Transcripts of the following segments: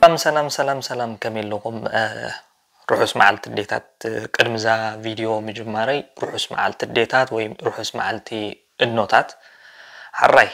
ሰላም ሰላም ሰላም ሰላም፣ ከመይ ኣለኹም? ርሑስ መዓልቲ ኣዴታት። ቅድሚ እዛ ቪድዮ ምጅማረይ፣ ርሑስ መዓልቲ ኣዴታት ወይ ርሑስ መዓልቲ እኖታት። ሓራይ፣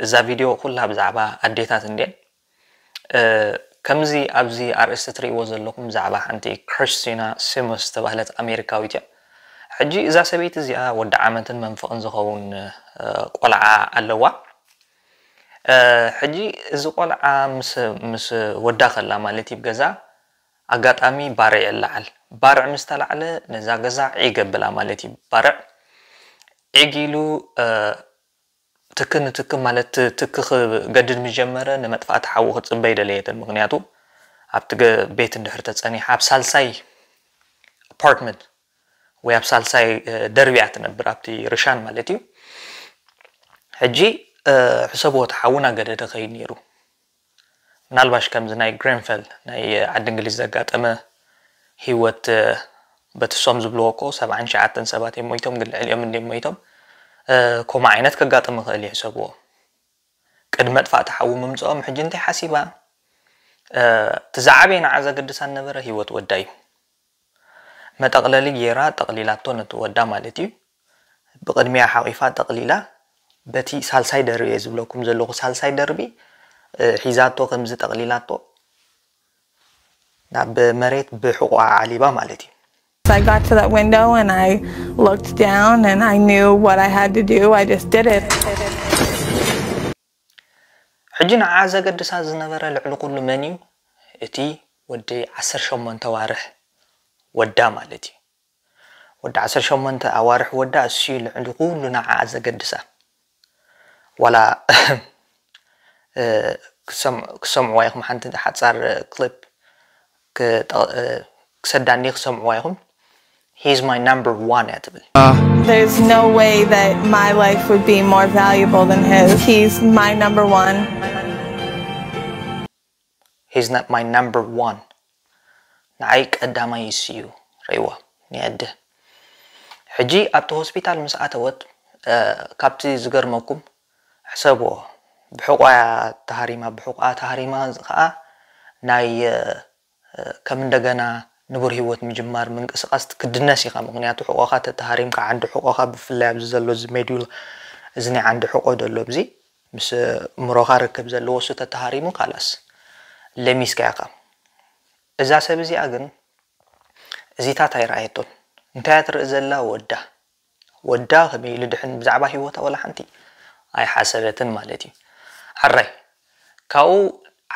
እዛ ቪድዮ ኩላ ብዛዕባ ኣዴታት እንድየን። ከምዚ ኣብዚ ኣርእስቲ ትርእይዎ ዘለኹም ብዛዕባ ሓንቲ ክርስቲና ሲሞስ ዝተባህለት ኣሜሪካዊት እያ። ሕጂ እዛ ሰበይቲ እዚኣ ወዲ ዓመትን መንፈቕን ዝኸውን ቆልዓ ኣለዋ። ሕጂ እዚ ቆልዓ ምስ ወዳ ከላ ማለት እዩ፣ ገዛ ኣጋጣሚ ባርዕ ይለዓል። ባርዕ ምስ ተላዕለ ነዛ ገዛ ዒግ ኣብላ ማለት እዩ። ባርዕ ዒግ ኢሉ ትኪ ንትኪ ማለት ትኪ ክገድድ ምስ ጀመረ ንመጥፋእቲ ሓዊ ክትፅበ ኣይደለየትን። ምክንያቱ ኣብቲ ቤት እንድሕር ተፀኒሓ ኣብ ሳልሳይ ኣፓርትመንት ወይ ኣብ ሳልሳይ ደርቢ እያ ትነብር፣ ኣብቲ ርሻን ማለት እዩ። ሕጂ ሕሰብዎ፣ እቲ ሓዊ እናገደደ ከይድ ነይሩ። ምናልባሽ ከምዚ ናይ ግሬንፈል ናይ ዓዲ እንግሊዝ ዘጋጠመ ህይወት፣ በትሶም ዝብልዎ እኮ ሰብዓን ሸዓተን ሰባት እዮም ሞይቶም፣ ግን ልዕሊኦም እንድዮም ሞይቶም። ከምኡ ዓይነት ከጋጥም ይኽእል እዩ፣ ሕሰብዎ። ቅድሚ መጥፋእቲ ሓዊ ምምፅኦም ሕጂ እንታይ ሓሲባ? እቲ ዝዓበየ ንዓ ዘገድሳ ዝነበረ ህይወት ወዳ እዩ። መጠቕለሊ ጌራ ጠቕሊላቶ ነቲ ወዳ ማለት እዩ። ብቕድሚያ ሓቒፋ ጠቕሊላ፣ በቲ ሳልሳይ ደርቢ እየ ዝብለኩም ዘለኹ፣ ሳልሳይ ደርቢ ሒዛቶ፣ ከምዚ ጠቕሊላቶ ናብ መሬት ብሕቑኣ ዓሊባ ማለት እዩ። I got to that window and I looked down and I knew what I had to do. I just did it. ሕጂ ንዓ ዘገድሳ ዝነበረ ልዕሊ ኩሉ መን እዩ? እቲ ወዲ ዓሰርተ ሸሞንተ ኣዋርሕ ወዳ ማለት እዩ። ወዲ ዓሰርተ ሸሞንተ ኣዋርሕ ወዳ እሱ እዩ ልዕሊ ኩሉ ንዓ ዘገድሳ። ዋላ ክሰምዕዋ ኢኹም፣ ሓንቲ ሓፃር ክሊፕ ክሰዳኒ ክሰምዕዋ ኢኹም። He's my number one እያ ትብል። There's no way that my life would be more valuable than his. He's my number one. He's not my number one. ንዓይ ቀዳማይ እሱ እዩ። ርእይዋ ንየደ ሕጂ ኣብቲ ሆስፒታል ምስ ኣተወት፣ ካብቲ ዝገርመኩም ሕሰብዎ፣ ብሕቋ ተሃሪማ፣ ብሕቋ ተሃሪማ ከዓ ናይ ከም እንደገና ንቡር ህይወት ምጅማር ምንቅስቃስ ክትድነስ ኢኻ። ምክንያቱ ሕቆኻ ተተሃሪምካ፣ ዓንዲ ሕቆኻ ብፍላይ ኣብዚ ዘሎ እዚ ሜዱል እዚ ናይ ዓንዲ ሕቆ ዘሎ ኣብዚ ምስ እምሮኻ ርክብ ዘለዎ እሱ ተተሃሪሙ ካላስ ለሚስካ ኢኻ። እዛ ሰብ እዚኣ ግን እዚታት ኣይረኣየቶን። እንታይ እያ ትርኢ ዘላ? ወዳ ወዳ ከመይ ኢሉ ድሕን ብዛዕባ ህይወታ ወላ ሓንቲ ኣይሓሰበትን ማለት እዩ። ሕራይ ካብኡ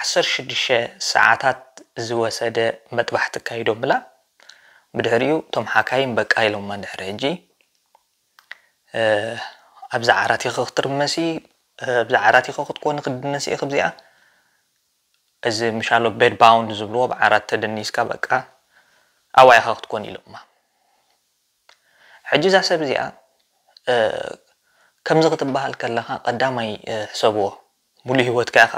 ዓሰርተ ሽዱሽተ ሰዓታት ዝወሰደ መጥባሕቲ ኣካይዶምላ። ብድሕሪኡ እቶም ሓካይም በቃ ኢሎማ። ድሕሪ ሕጂ ኣብዚ ዓራት ኢኺ ክትርመሲ፣ ኣብዚ ዓራት ኢኺ ክትኮኒ፣ ክትድነሲ ኢኺ። ኣብዚኣ እዚ ምሻሎ ቤድ ባውንድ ዝብልዎ ብዓራት ተደኒስካ በቃ ኣብኣ ኢኻ ክትኮን ኢሎማ። ሕጂ እዛ ሰብ እዚኣ ከምዚ ክትበሃል ከለኻ ቀዳማይ ሕሰብዎ፣ ሙሉእ ህይወትካ ኢኻ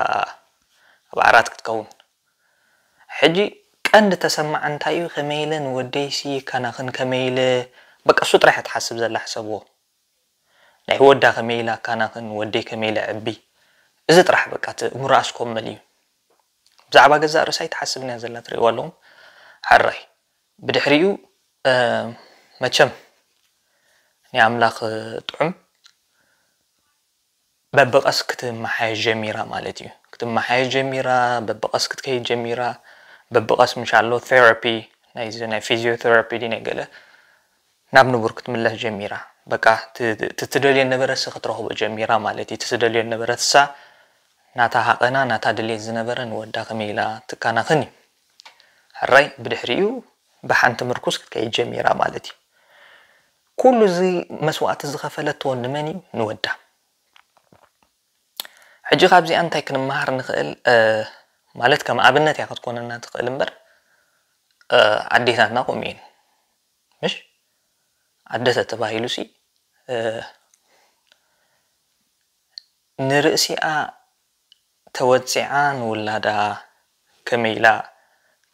ኣብ ዓራት ክትከውን። ሕጂ ቀንዲ ተሰማዓ እንታይ እዩ? ከመይ ኢለ ንወደይሲ ካናኽን፣ ከመይ ኢለ በቃ እሱ ጥራሕ እያ ትሓስብ ዘላ። ሕሰብዎ፣ ናይ ወዳ ከመይ ኢላ ካናኽን፣ ወደይ ከመይ ኢለ ዕቢ፣ እዚ ጥራሕ በቃ እቲ እምሮኣ እስኮ መሊኡ። ብዛዕባ ገዛእ ርእሳ ኣይትሓስብን እያ ዘላ፣ ትርእይዋ ኣለኹም። ሕራይ ብድሕሪኡ መቸም ናይ ኣምላኽ ጥዑም በብቐስ ክትመሓየሽ ጀሚራ ማለት እዩ። ክትመሓየሽ ጀሚራ፣ በብቐስ ክትከይድ ጀሚራ። በብቐስ ምሻሎ ቴራፒ፣ ናይዚ ናይ ፊዚዮቴራፒ ድዩ ናይ ገለ፣ ናብ ንቡር ክትምለስ ጀሚራ። በቃ ትትደልዮ ነበረ ሲ ክትረኽቦ ጀሚራ ማለት እዩ። ትትደልዮ ነበረት እሳ ናታ ሃቐና ናታ ድሌት ዝነበረ ንወዳ ከመይ ኢላ ትካናኽን እዩ። ሕራይ ብድሕሪኡ ብሓንቲ ምርኩስ ክትከይድ ጀሚራ ማለት እዩ። ኩሉ እዚ መስዋእቲ ዝኸፈለቶ ንመን እዩ? ንወዳ። ሕጂ ካብዚኣ እንታይ ክንመሃር ንኽእል? ማለት ከም ኣብነት እያ ክትኮነና ትኽእል እምበር ኣዴታትና ከምኡ እየን። ምሽ ኣደ ተተባሂሉ ሲ ንርእሲኣ ተወጺዓ ንውላዳ ከመይ ኢላ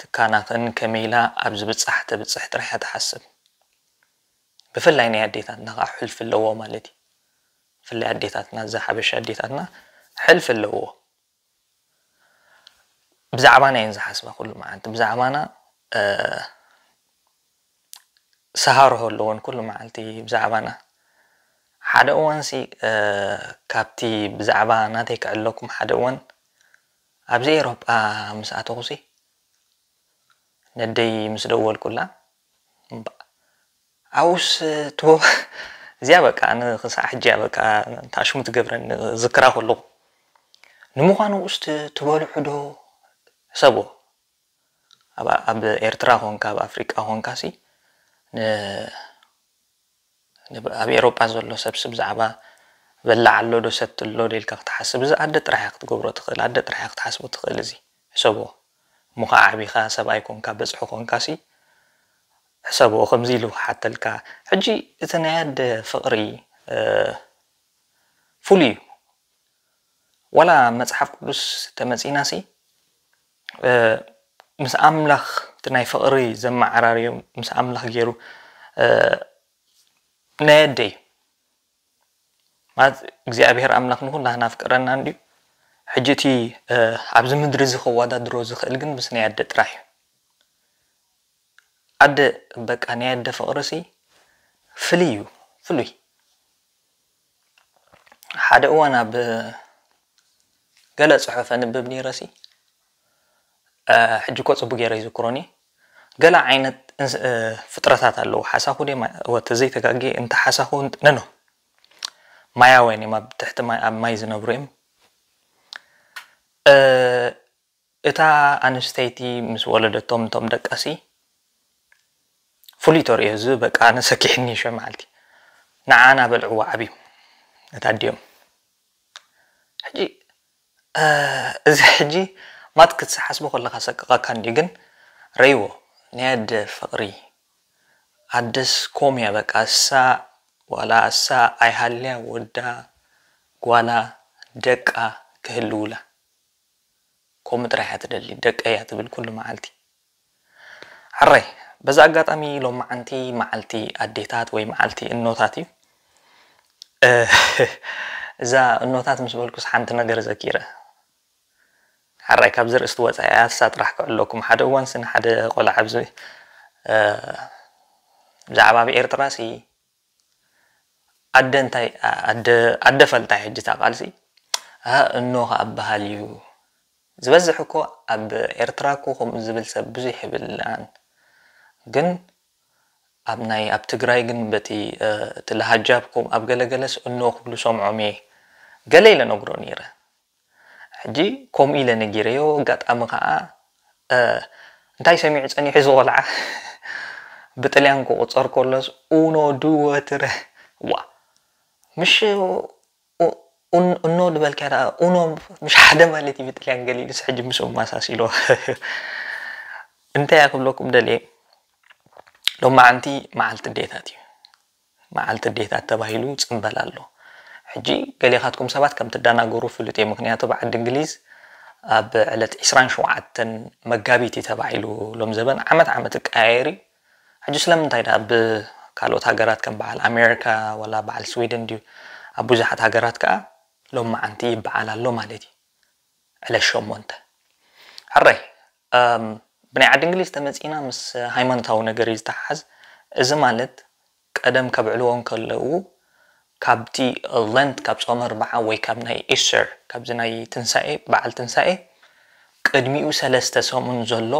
ትካናኽን ከመይ ኢላ ኣብ ዝብጻሕ ተብጽሕ ጥራሕ እያ ትሓስብ። ብፍላይ ናይ ኣዴታትና ከዓ ሕልፊ ኣለዎ ማለት እዩ። ብፍላይ ኣዴታትና፣ እዛ ሓበሻ ኣዴታትና ሕልፊ ኣለዎ። ብዛዕባና እየን ዝሓስባ ኩሉ መዓልቲ፣ ብዛዕባና ሰሃርሆ ኣለዎን ኩሉ መዓልቲ ብዛዕባና። ሓደ እዋንሲ ካብቲ ብዛዕባ ናተይ ክዕለኩም፣ ሓደ እዋን ኣብዚ ኤሮጳ ምስ ኣተኹሲ ነደይ ምስ ደወልኩላ፣ ኣብኡስ ትቦ እዚኣ በቃ ኣነ ክሳዕ ሕጂ እያ በቃ ታሽሙ ትገብረኒ ዝክራ ከለኹ። ንምዃኑ ውስጥ ትበልዑ ዶ ሕሰቦ? ኣብ ኤርትራ ኾንካ ኣብ ኣፍሪቃ ኾንካ ሲ ኣብ ኤሮጳ ዘሎ ሰብሲ ብዛዕባ በላዕ ኣሎ ዶ ሰቲ ኣሎ ዶ ኢልካ ክትሓስብ፣ እዚ ኣደ ጥራሕ ክትገብሮ ትኽእል፣ ኣደ ጥራሕ ክትሓስቦ ትኽእል። እዚ ሕሰቦ እሞ ከዓ ዓቢኻ ሰብኣይ ኮንካ በፅሒ ኮንካ ሲ ሕሰቦ ከምዚ ኢሉ ክሓተልካ። ሕጂ እቲ ናይ ኣደ ፍቕሪ ፍሉይ እዩ። ዋላ መጽሓፍ ቅዱስ ተመጺእናሲ ምስ ኣምላኽ እቲ ናይ ፍቕሪ ዘመዓራርዮም ምስ ኣምላኽ ገይሩ ናይ ኣደይ ማለት እግዚኣብሔር ኣምላኽ ንኹላህና ኣፍቅረና እንድዩ። ሕጂ እቲ ኣብዚ ምድሪ እዚ ከወዳድሮ ዝኽእል ግን ምስ ናይ ኣደ ጥራሕ እዩ። ኣደ በቃ ናይ ኣደ ፍቕርሲ ፍልይ እዩ፣ ፍሉይ። ሓደ እዋን ኣብ ገለ ጽሑፍ ኣንብብ ነይረሲ፣ ሕጂ እኮ ጽቡቅ ገይረ ይዝክሮኒ፣ ገለ ዓይነት ፍጥረታት ኣለዉ። ሓሳኹ ደ ወተ ዘይተጋጌ እንተ ሓሳኹ ነኖ ማያውያን እዮም፣ ኣብ ትሕቲ ማይ ኣብ ማይ ዝነብሩ እዮም። እታ ኣንስተይቲ ምስ ወለደቶም እቶም ደቃሲ ፍሉይ ተርእዮ እዚ በቃ ኣነ ሰኪሕኒ ሸ መዓልቲ ንዓና በልዕዋ ዓብዩ እታ ኣዲኦም። ሕጂ እዚ ሕጂ ማት ክትሓስቦ ከለካ ሰቅቀካ እንዲ ግን ረይዎ ናይ ኣደ ፍቅሪ ኣደስ ኮም እያ በቃ እሳ ዋላ እሳ ኣይሃልያ ወዳ ጓላ ደቃ ክህልውላ ከምኡ ጥራሕ እያ ትደሊ፣ ደቀይ እያ ትብል ኩሉ መዓልቲ። ሕራይ በዚ ኣጋጣሚ ሎማዓንቲ መዓልቲ ኣዴታት ወይ መዓልቲ እኖታት እዩ። እዛ እኖታት ምስ በልኩስ ሓንቲ ነገር ዘኪረ። ሕራይ ካብዚ ርእስቲ ወፃኢ እያ፣ እሳ ጥራሕ ክዕለኩም። ሓደ እዋን ስኒ ሓደ ቆልዓ ኣብዚ ብዛዕባ ኣብ ኤርትራ ሲ ኣደ እንታይ ኣደ ፈልጣ ሕጂ እታ ቃልሲ እኖ ከኣ በሃል እዩ። ዝበዝሕ እኮ ኣብ ኤርትራ እኮ ከምኡ ዝብል ሰብ ብዙሕ ይብላን ግን ኣብ ናይ ኣብ ትግራይ ግን በቲ እቲ ለሃጃብ ከም ኣብ ገለገለስ እኖ ክብሉ ሰምዖም እየ ገለ ኢለ ነግሮ ነይረ። ሕጂ ከምኡ ኢለ ነጊረዮ ኣጋጣሚ ከዓ እንታይ ሰሚዑ ፀኒሑ እዚ ቆልዓ ብጥልያን ክቁፀር ከሎስ ኡኖ ድወትረ ዋ ምሽ እኖ ዝበልካያ ደኣ ኡኖ ምሽ ሓደ ማለት እዩ ብጥልያን ገሊሉስ ሕጂ ምስኡ ማሳሲሎ እንታይ እያ ክብለኩም ደልየ ሎማዓንቲ መዓልቲ ኣዴታት እዩ መዓልቲ ኣዴታት ተባሂሉ ፅምበል ኣሎ ሕጂ ገሌኻትኩም ሰባት ከም ትደናገሩ ፍሉጥ እየ ምክንያቱ ብዓዲ እንግሊዝ ኣብ ዕለት ዕስራን ሸውዓተን መጋቢት እዩ ተባሂሉ ሎም ዘበን ዓመት ዓመት እቀያየር እዩ ሕጂ ስለምንታይ ደኣ ብካልኦት ሃገራት ከም በዓል ኣሜሪካ ወላ በዓል ስዊድን ድዩ ኣብ ብዙሓት ሃገራት ከዓ ሎም መዓንቲ ይበዓል ኣሎ ማለት እዩ ዕለት ሸሞንተ ሕራይ ብናይ ዓዲ እንግሊዝ ተመፂና ምስ ሃይማኖታዊ ነገር እዩ ዝተሓሓዝ እዚ ማለት ቀደም ከብዕልዎ እንከለዉ ካብቲ ለንት ካብ ፆመ ኣርባዓ ወይ ካብ ናይ ኢስተር ካብዚ ናይ ትንሳኤ በዓል ትንሳኤ ቅድሚኡ ሰለስተ ሰሙን ዘሎ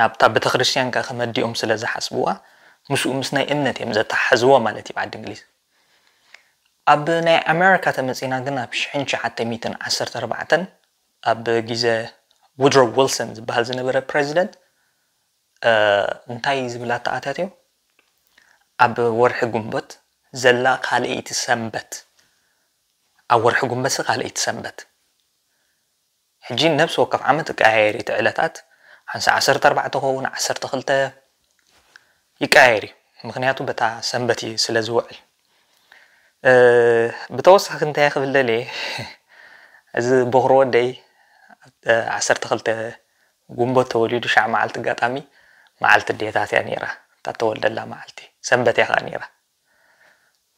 ናብታ ቤተክርስትያን ከ ከመዲኦም ስለ ዝሓስብዋ ምስኡ ምስ ናይ እምነት እዮም ዘተሓሕዝዎ ማለት እዩ ዓዲ እንግሊዝ ኣብ ናይ ኣሜሪካ ተመፂና ግን ኣብ ሽሕን ትሽዓተ ሚእትን ዓሰርተ ኣርባዕተን ኣብ ግዜ ውድሮ ዊልሰን ዝበሃል ዝነበረ ፕሬዚደንት እንታይ ዝብል ኣተኣታትዮ ኣብ ወርሒ ጉንበት ዘላ ካልኣይቲ ሰንበት ኣብ ወርሒ ጉንበት ካልኣይቲ ሰንበት ሕጂ ነብሲ ወከፍ ዓመት እቀያየር እቲ ዕለታት ሓንሳ ዓሰርተ ኣርባዕተ ኸውን ዓሰርተ ክልተ ይቀያየር እዩ ምክንያቱ በታ ሰንበት እዩ ስለ ዝውዕል ብተወሳኺ እንታይ ክብል ደልየ እዚ ቦኽሪ ወደይ ዓሰርተ ክልተ ጉንበት ተወሊዱ ሻዕ መዓልቲ ኣጋጣሚ መዓልቲ ኣዴታት እያ ነይራ እታ ተወልደላ መዓልቲ ሰንበት እያ ከዓ ነይራ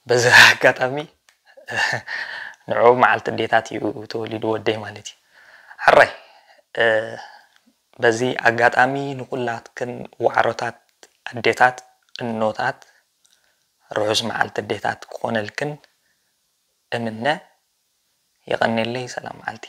በዚ ኣጋጣሚ ንዑ መዓልቲ ኣዴታት እዩ ተወሊዱ ወደይ ማለት እዩ ሕራይ በዚ ኣጋጣሚ ንኩላትክን ዋዕሮታት ኣዴታት፣ እኖታት፣ ርሑስ መዓልቲ ኣዴታት ክኾነልክን እምነ። የቐኔለይ። ሰላም መዓልቲ።